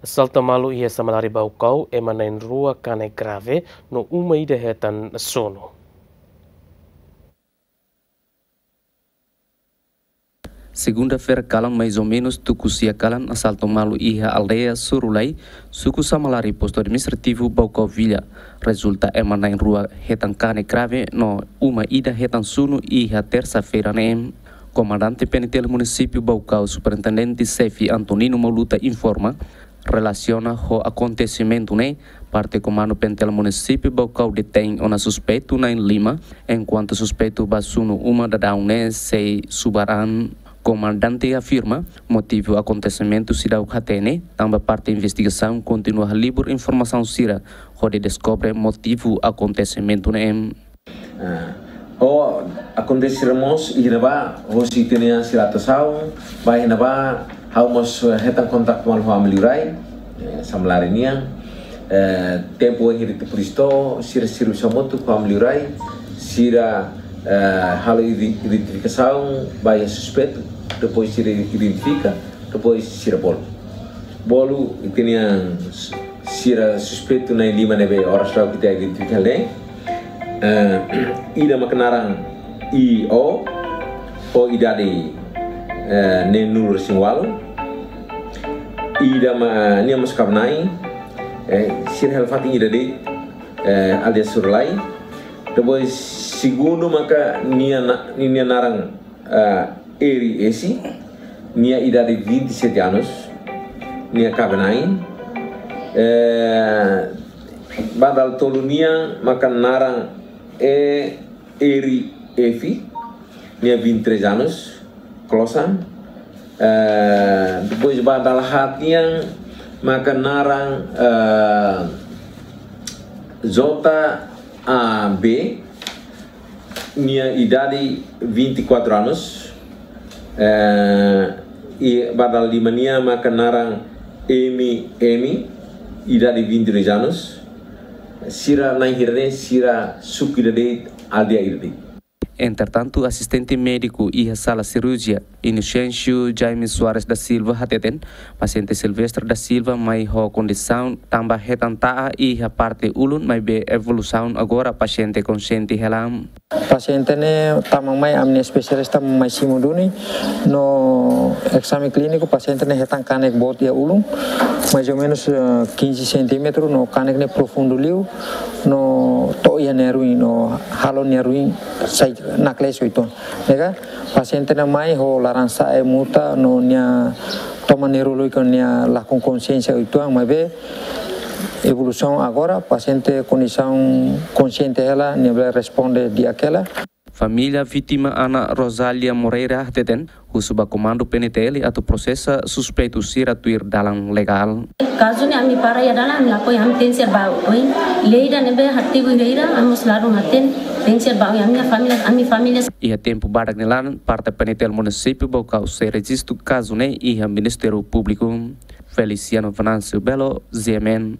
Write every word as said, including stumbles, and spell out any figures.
Asaltu malu iha Samalari Baucau, ema na'in-rua kanek grave no uma ida hetan sunu. Segunda-feira kalan, mais ou menus tuku sia kalan, asaltu malu iha aldeia Surulai, suku Samalari, postu administrativu Baucau Vila. Rezulta ema na'in-rua hetan kanek grave no uma ida hetan sunu iha tersa-feira ne'e. Komandante P N T L Munisípiu Baucau, Superintendente Xefe Antonino Mauluta informa, relasiona ho akontesimentu ne'e, parte Komandu P N T L Munisípiu Baucau detein ona suspeitu na'in-lima, enkuantu suspeitu ba sunu uma daudaun ne'e sei subar an. Komandante afirma, motivu akontesimentu seidauk hatene, tanba parte investigasaun kontinua halibur informasaun sira hodi deskobre motivu akontesimentu ne'e. Ah, ho akontese mós iha ne'ebá, hosi ita-nia sira atuasaun ba iha ne'ebá, ha'u mós, eh, hetan kontaktu malu ho ami liurai, eh, Samalari nian. Eh, tempu iha ita polísia to'o, sira servisu hamutuk ho ami liurai, sira, eh, halo ide-, identifikasaun ba iha suspeitu, depois sira identifika, depois sira bolu. Bolu ita-nia sira suspeitu na'in-lima ne'ebé oras lalu ita identifika ne'e. Eh, ida maka naran I O, ho idade, eh, neenulu-resin-ualu. Ida ma, nia mós kaben-na'in, eh, sira hela fatin ida de'it, eh, aldeia Surulai. Depois segundu maka nia na-, nia naran, eh, Eri Esi, nia idade vinte e sete anos, nia kaben-na'in. Eh, ba dala tolu nian maka naran E Eri Efi, nia vinte e três anos, klosan. Eh, depois ba dala haat nian maka naran, eh, J A B, nia idade vinte e quatro anos. Eh, i ba dala lima nian maka naran M M, idade vinte e dois anos. Sira na'in hira ne'e, sira suku ida de'it, aldeia ida de'it. Entretantu, asistente médiku iha sala sirurjia, Inocêncio Jaime Soares da Silva hateten, pasiente Silvestre da Silva mai ho kondisaun tanba hetan ta'a iha parte ulun, maibé evolusaun agora pasiente konxiente hela. Pasiente ne'e tama mai, ami-nia espesialista mai simu duni, no ezame klíniku pasiente ne'e hetan kanek boot iha ulun, mais ou menus, eh, quinze centímetros, no kanek ne'e profundu liu, no to'o iha nia ruin, no halo nia ruin sai naklees uitoan. Ne'e ka, pasiente ne'e mai ho laran-sa'e, muta, no nia toman neurolójiku nia lakon konxiénsia uitoan, maibé evolusaun agora, pasiente kondisaun konxiente hela, nia bele responde di'ak hela. Família vítima Ana Rosália Moreira hateten, husu ba Komandu P N T L atu prosesa suspeitu sira tuir dalan legál. Kazu ne'e ami para iha dalan, ami lakohi, ami tenke ser ba oin. Lei ida ne'ebé hatibu iha ida, ami mós ladún hatene, tenke ser ba oin, ami família, ami família. Iha tempu badak nia laran, parte P N T L Munisípiu Baucau sei rejistu kazu ne'e iha Ministériu Públiku. Feliciano Venâncio Belo, G M N.